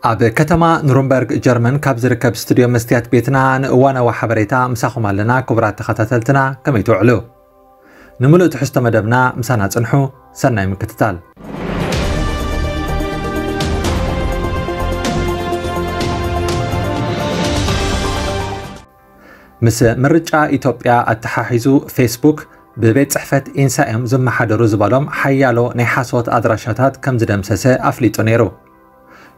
ኣብ ከተማ ኑርንበርግ ጀርመን ካብ ዝርከብ ስቱድዮ መስትያት ቤትና ንእዋናዊ ሓበሬታ ምሳኹም ኣለና። ክቡራት ተኸታተልትና፣ ከመይ ትውዕሉ? ንምሉእ ትሕዝቶ መደብና ምሳና ጽንሑ። ሰናይ ምክትታል። ምስ ምርጫ ኢትዮጵያ ኣተሓሒዙ፣ ፌስቡክ ብቤት ጽሕፈት ኢንሳ እዮም ዝመሓደሩ ዝበሎም ሓያሎ ናይ ሓሶት ኣድራሻታት ከም ዝደምሰሰ ኣፍሊጡ ነይሩ።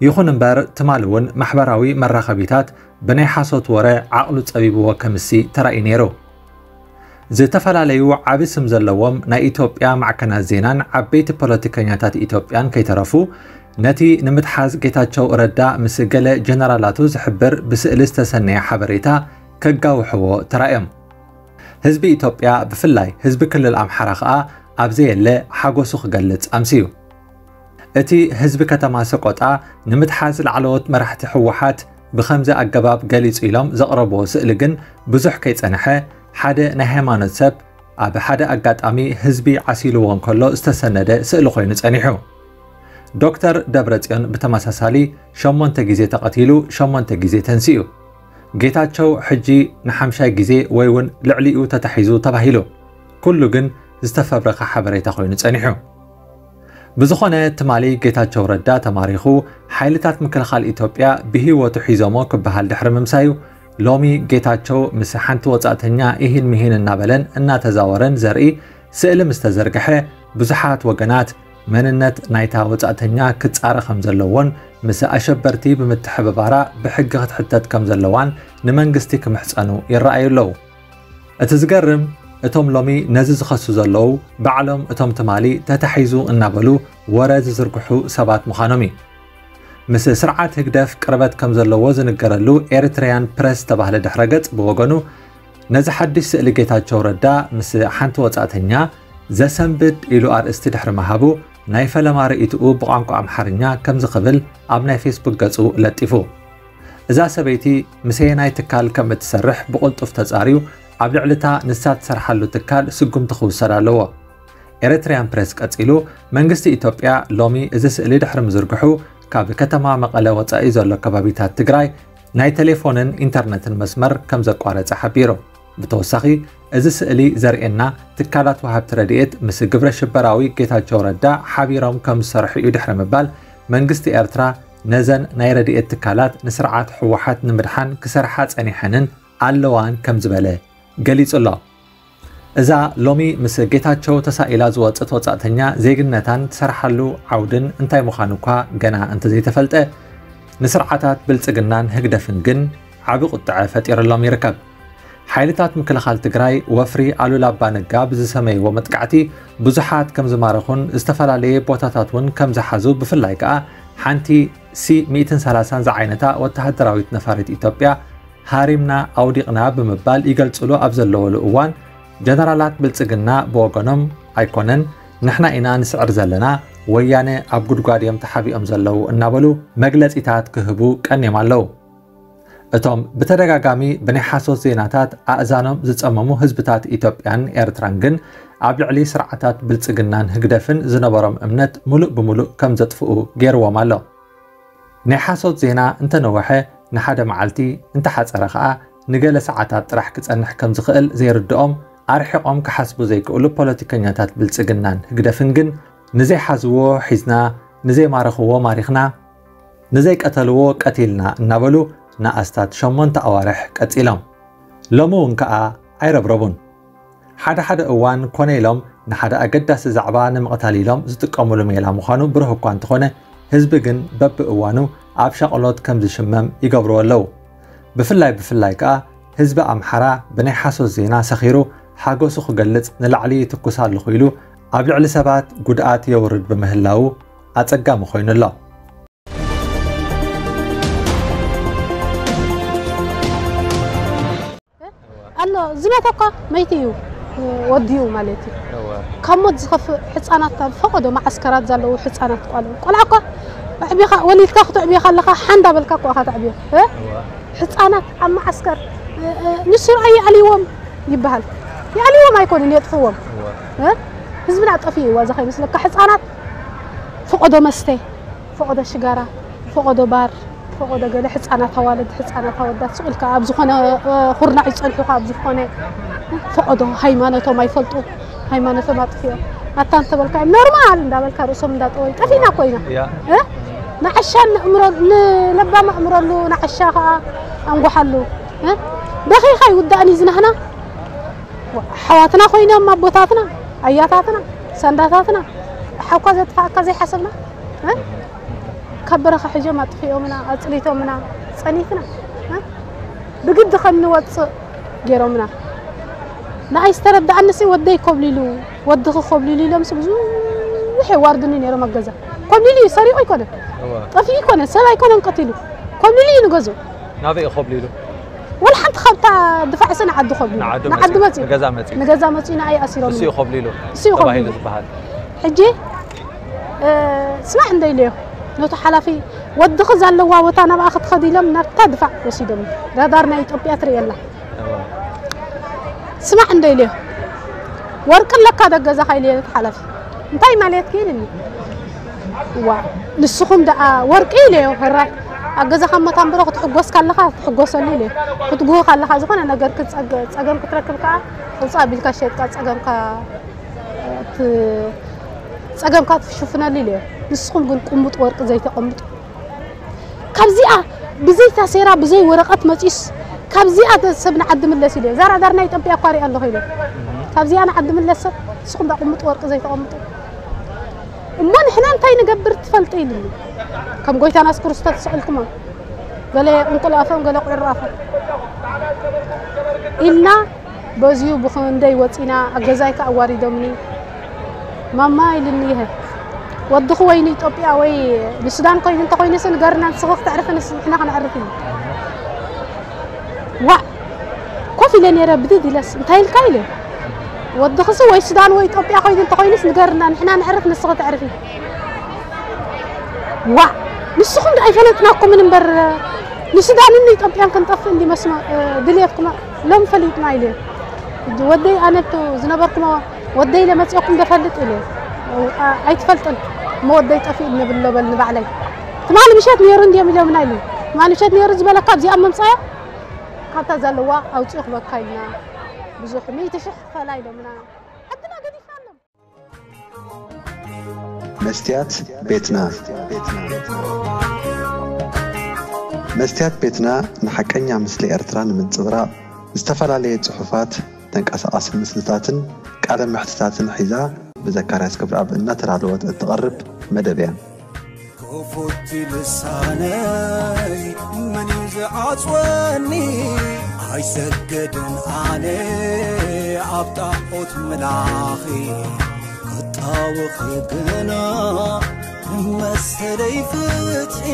ይኹን እምበር፣ ትማሊ እውን ማሕበራዊ መራኸቢታት ብናይ ሓሶት ወረ ዓቕሉ ጸቢብዎ ከምሲ ተራእዩ ነይሩ። ዝተፈላለዩ ዓቢ ስም ዘለዎም ናይ ኢትዮጵያ ማዕከናት ዜናን ዓበይቲ ፖለቲከኛታት ኢትዮጵያን ከይተረፉ፣ ነቲ ንምትሓዝ ጌታቸው ረዳ ምስ ገለ ጀነራላቱ ዝሕብር ብስእሊ ዝተሰነየ ሓበሬታ ከጋውሕዎ ተራእዮም። ህዝቢ ኢትዮጵያ፣ ብፍላይ ህዝቢ ክልል ኣምሓራ ከኣ ኣብ ዘየለ ሓጎሱ ክገልጽ ኣምስዩ። እቲ ህዝቢ ከተማ ሰቆጣ ንምትሓዝ ላዕለዎት መራሕቲ ህወሓት ብኸምዚ ኣገባብ ገሊጹ ኢሎም ዘቕረብዎ ስእሊ ግን ብዙሕ ከይጸንሐ፣ ሓደ ናይ ሃይማኖት ሰብ ኣብ ሓደ ኣጋጣሚ ህዝቢ ዓሲልዎ እንከሎ ዝተሰነደ ስእሊ ኮይኑ ጸኒሑ። ዶክተር ደብረጽዮን ብተመሳሳሊ ሸሞንተ ግዜ ተቐቲሉ፣ ሸሞንተ ግዜ ተንሲኡ። ጌታቸው ሕጂ ንሓምሻይ ግዜ ወይ እውን ልዕሊኡ ተታሒዙ ተባሂሉ። ኩሉ ግን ዝተፈብረኸ ሓበሬታ ኮይኑ ጸኒሑ። ብዝኾነ፣ ትማሊ ጌታቸው ረዳ ተማሪኹ፣ ሓይልታት ምክልኻል ኢትዮጵያ ብህይወቱ ሒዞሞ ክበሃል ድሕሪ ምምሳዩ፣ ሎሚ ጌታቸው ምስ ሓንቲ ወጻእተኛ ኢሂን ምሂን እናበለን እናተዛወረን ዘርኢ ስእሊ ምስ ተዘርግሐ፣ ብዙሓት ወገናት መንነት ናይታ ወጻእተኛ ክጻረ ከም ዘለዎን ምስ ኣሸበርቲ ብምትሕብባራ ብሕጊ ክትሕተት ከም ዘለዋን ንመንግስቲ ክምሕጸኑ ይረኣዩ ኣለዉ። እቲ ዝገርም፣ እቶም ሎሚ ነዚ ዝኸሱ ዘለዉ፣ ባዕሎም እቶም ትማሊ ተታሒዙ እናበሉ ወረ ዝዝርግሑ ሰባት ምዃኖም እዩ። ምስ ስርዓት ህግደፍ ቅርበት ከም ዘለዎ ዝንገረሉ ኤሪትሪያን ፕረስ ዝተባህለ ድሕረ ገጽ ብወገኑ፣ ነዚ ሓድሽ ስእሊ ጌታቸው ረዳ ምስ ሓንቲ ወጻእተኛ ዘሰንብድ ኢሉ ኣርእስቲ ድሕሪ ምሃቡ፣ ናይ ፈለማ ርእይትኡ ብቋንቋ ኣምሓርኛ ከምዚ ክብል ኣብ ናይ ፌስቡክ ገጹ ለጢፉ። እዛ ሰበይቲ ምሰየናይ ትካል ከም እትሰርሕ ብቕልጡፍ ተጻርዩ፣ ኣብ ልዕሊ እታ ንሳ ትሰርሓሉ ትካል ስጉምቲ ክውሰድ ኣለዎ። ኤሪትሪያን ፕሬስ ቀጺሉ፣ መንግስቲ ኢትዮጵያ ሎሚ እዚ ስእሊ ድሕሪ ምዝርግሑ፣ ካብ ከተማ መቐለ ወጻኢ ዘሎ ከባቢታት ትግራይ ናይ ቴሌፎንን ኢንተርነትን መስመር ከም ዘቋረጸ ሓቢሩ። ብተወሳኺ፣ እዚ ስእሊ ዘርእየና ትካላት ወሃብቲ ረድኤት ምስ ግብረ ሽበራዊ ጌታቸው ረዳ ሓቢሮም ከም ዝሰርሑ እዩ ድሕሪ ምባል፣ መንግስቲ ኤርትራ ነዘን ናይ ረድኤት ትካላት ንስርዓት ህወሓት ንምድሓን ክሰርሓ ጸኒሐንን ኣለዋን ከም ዝበለ ገሊጹ ኣሎ። እዛ ሎሚ ምስ ጌታቸው ተሳኢላ ዝወጸት ወጻእተኛ ዜግነታን ትሰርሓሉ ዓውድን እንታይ ምዃኑ እኳ ገና እንተዘይተፈልጠ፣ ንስርዓታት ብልጽግናን ህግደፍን ግን ዓቢ ቁጥዐ ፈጢርሎም ይርከብ። ሓይልታት ምክልኻል ትግራይ ወፍሪ ኣሉላ ኣባነጋ ብዝሰመይዎ መጥቃዕቲ ብዙሓት ከም ዝማረኹን ዝተፈላለየ ቦታታት እውን ከም ዝሓዙ፣ ብፍላይ ከኣ ሓንቲ ሲ ሚእትን ሰላሳን ዝዓይነታ ወተሃደራዊት ነፋሪት ኢትዮጵያ ሃሪምና ኣውዲቕና ብምባል ይገልጽሉ ኣብ ዘለወሉ እዋን፣ ጀነራላት ብልጽግና ብወገኖም ኣይኮነን፣ ንሕና ኢና ንስዕር ዘለና፣ ወያነ ኣብ ጉድጓድ እዮም ተሓቢኦም ዘለዉ እናበሉ መግለጺታት ክህቡ ቀንዮም ኣለዉ። እቶም ብተደጋጋሚ ብናይ ሓሶት ዜናታት ኣእዛኖም ዝጸመሙ ህዝብታት ኢትዮጵያን ኤርትራን ግን ኣብ ልዕሊ ስርዓታት ብልጽግናን ህግደፍን ዝነበሮም እምነት ምሉእ ብምሉእ ከም ዘጥፍኡ ገይርዎም ኣሎ። ናይ ሓሶት ዜና እንተነወሐ ንሓደ መዓልቲ፣ እንተሓጸረ ከኣ ንገለ ሰዓታት ጥራሕ ክጸንሕ ከም ዝኽእል ዘይርድኦም፣ ኣርሒቖም ክሓስቡ ዘይክእሉ ፖለቲከኛታት ብልጽግናን ህግደፍን ግን፣ ንዘይሓዝዎ ሒዝና፣ ንዘይማረኽዎ ማሪኽና፣ ንዘይቀተልዎ ቀቲልና እናበሉ ንኣስታት ሸሞንተ ኣዋርሕ ቀጺሎም። ሎሚ እውን ከኣ ኣይረብረቡን። ሓደ ሓደ እዋን ኮነ ኢሎም ንሓደ ኣገዳሲ ዛዕባ ንምቕታል ኢሎም ዝጥቀምሉ ሜላ ምዃኑ ብሩህ እኳ እንተኾነ፣ ህዝቢ ግን በብእዋኑ ኣብ ሻቕሎት ከም ዝሽመም ይገብርዎ ኣለዉ። ብፍላይ ብፍላይ ከኣ ህዝቢ ኣምሓራ ብናይ ሓሶት ዜና ሰኺሩ ሓጎሱ ክገልጽ ንላዕሊ ይትኩስ ኣለኹ ኢሉ ኣብ ልዕሊ ሰባት ጉድኣት የውርድ ብምህላዉ ኣጸጋሚ ኮይኑ ኣሎ። ኣሎ ዝሞተ እኳ መይቲ እዩ ወዲኡ ማለት እዩ። ካብ ሞት ዝኸፍእ ሕፃናት ኣብ ፈቐዶ መዓስከራት ዘለዉ ሕፃናት ቆልዑ። ቆልዓ እኳ ኣዕቢኻ ወሊድካ ክተዕብዮ ከለኻ ሓንዳ በልካ እኳ ኢኻ ተዕብዮ። እ? ሕፃናት ኣብ መዓስከር፣ እ፣ እ፣ ንሱ ረኣዩ ኣልይዎም ይበሃል። ይኣልይዎም ኣይኮኑን፣ የጥፍዎም። እ? ህዝብና ጠፊኡ እዋ፣ እዚ ከይመስለካ። ሕፃናት ፈቐዶ መስተ፣ ፈቐዶ ሽጋራ፣ ፈቐዶ ባር፣ ፈቐዶ ገለ ሕፃናት ኣዋልድ፣ ሕፃናት ኣወዳት ስቕ ኢልካ ኣብ ዝኾነ፣ እ፣ ኩርናዕ ይጸንሑኻ፣ ኣብ ዝኾነ ፈቐዶ ሃይማኖቶም ኣይፈልጡ፣ ሃይማኖቶም ኣጥፊኦም። ኣታ እንተበልካዮም ኖርማል እንዳበልካ ርእሶም እንዳጠወዩ ጠፊእና እኮ ኢና። ያ። እ? ንዓሻ ንእምሮ-፣ ንለባም ኣእምረሉ፣ ንዓሻ ኸኣ ኣንጓሓሉ። እ? በኺኻ ይውዳእን እዩ ዝናህና። ኣሕዋትና ኮይኖም ኣቦታትና፣ ኣያታትና፣ ሳንዳታትና፣ ሓውካ ዘጥፋእካ ዘይሓሰብና፣ እ? ካብ በረኻ ሒዞም ኣጥፊኦምና፣ ኣጽሊቶምና፣ ጸኒትና፣ እ? ብግዲ ከም ንወጽእ ገይሮምና። ንኣይ ዝተረዳኣንሲ ወደይ ኮብሊሉ፣ ወድኺ ኮብሊሉ ኢሎምሲ ብዙሕ የዋርዱኒ ነይሮም ኣብ ገዛ። ኮብሊሉ እዩ፣ ሰሪቑ ኣይኮነን፣ እወ። ጠፊኡ ኣይኮነን፣ ሰብ ኣይኮነን ቀቲሉ። ኮብሊሉ እዩ ንገዝኡ። ናበይ እዩ ኮብሊሉ? ወላ ሓንቲ ካብታ ድፋዕ ስነ ዓዲ ኮብሊሉ። ንዓዲ ንዓዲ መጺኡ፣ መጺኡ። ንገዛ መጺኡ። ንገዛ መጺኡ ንኣይ ኣሲሮም። ንሱ እዩ ኮብሊሉ እሱ እዩ ተባሂሉ ኮብሊሉ። ዝበሃል። ሕጂ፣ እ፣ ስማዕ እንደ ኢለዮ፣ ነቱ ሓላፊ፣ "ወድኺ ዘለዋ ቦታ ናብኣ ክትኸዲ" ኢሎም ናብታ ድፋዕ ወሲዶም። ራዳር ናይ ኢትዮጵያ ትርእየላ። እወ። ስማዕ እንደ ኢለዮ፣ "ወርቂ ኣለካ ዶ ኣብ ገዛኻ?" ኢለዮ ነቲ ሓላፊ። "እንታይ ማለትኪ?" ኢልኒ። "ዋ፣ ንስኹም ደኣ ወርቂ?" ኢለዮ። "ሕራይ፣ ኣብ ገዛኻ እሞ ታምብሮ ክትሕጎስ ካለኻ ትሕጎሰሉ" ኢለዮ። "ክትጉህ ካለኻ፣ ዝኾነ ነገር ክትጸገ-፣ ጸገም ክትረክብ ከኣ፣ ውጻእ ኣቢልካ ሸይጥካ ጸገምካ ት-፣ ጸገምካ ትሽፍነሉ" ኢለዮ። "ንስኹም ግን ቅሙጥ ወርቂ ዘይተቐምጡ። ካብዚኣ ብዘይ ታሴራ፣ ብዘይ ወረቐት መጺስ፣ ካብዚኣ ተ-፣ ሰብ ንዓዲ ምለስ" ኢለዮ። "እዛ ራዳር ናይ ኢትዮጵያ እኳ ሪኣ ኣለኹ" ኢለዮ። "ካብዚኣ ንዓዲ ምለስ ሰብ፣ ንስኹም ደኣ ቅሙጥ ወርቂ ዘይተቐምጡ። እሞ ንሕና እንታይ ንገብር ትፈልጢ?" ኢልኒ። "ከም ጎይታና የሱስ ክርስቶስ ስቕ ኢልኩሞ፣ ገለ እንቁላፎም፣ ገለ ቁዕራፎም ኢልና፣ በዚኡ ብኽንደይ ወጺና፣ ኣብ ገዛይ ከኣ ኣዋሪዶምኒ። ማማ" ኢልኒ፣ "ይሀ ወድኺ ወይ ንኢትዮጵያ ወይ ንሱዳን ኮይኑ እንተኾይኑስ ንገርና፣ ንስኺ ክተዕርፊ፣ ንስ-፣ ንሕና ክነዕርፍ" ኢሉ። ዋእ! ኮፍ ኢለ ነይረ፣ ብድድ ኢለስ፣ "እንታይ ኢልካ?" ኢለ። "ወድኽሲ ወይ ሱዳን ወይ ኢትዮጵያ ኮይኑ እንተኾይኑስ ንገርና፣ ንሕና ነዕርፍ፣ ንስኺ ተዕርፊ።" ዋእ! ንስኹም ዶ ኣይፈለጥናኩምን እምበር፣ ንሱዳንን ንኢትዮጵያን ክንጠፍእ እንዲ መስመ-፣ ድልየትኩም ሎም ፈሊጥና ኢለ። ሕጂ ወደይ ኣነቱ ዝነበርኩሞ ወደይ ኢለ መጺኦኩም ዶ ፈልጥ ኢለ። ኣ-፣ ኣይትፈልጥን። እሞ ወደይ ጠፊኡ ንብሎ በል ንባዕለይ። ትማሊ ምሸት ነይሩ እንድዮም ኢሎምና ኢሉ። ትማሊ ምሸት ነይሩ ዝበለካ ኣብዚኣ ምምጻያ ካብታ ዘለዋ ኣውጽኡ ክበካ ኢልና። ብዙሕ ሚእቲ ሽሕ ፈላ ኢሎምና። ዓድና ገዲፍና ኣሎም። መስትያት ቤትና። መስትያት ቤትና ንሓቀኛ ምስሊ ኤርትራ ንምንጽብራቕ ዝተፈላለየ ጽሑፋት፣ ተንቀሳቓሲ ምስልታትን ቃለ መሕትታትን ሒዛ ብዘካርያስ ክብረኣብ እናተዳለወት እትቐርብ መደብ እያ። ክፉት ልሳነይ መን እዩ ዝዓጽወኒ? ኣይሰግድን ኣነ ኣብ ጣዖት ምላኺ፣ ክጣወኺ ግና መሰለይ ፍትሒ።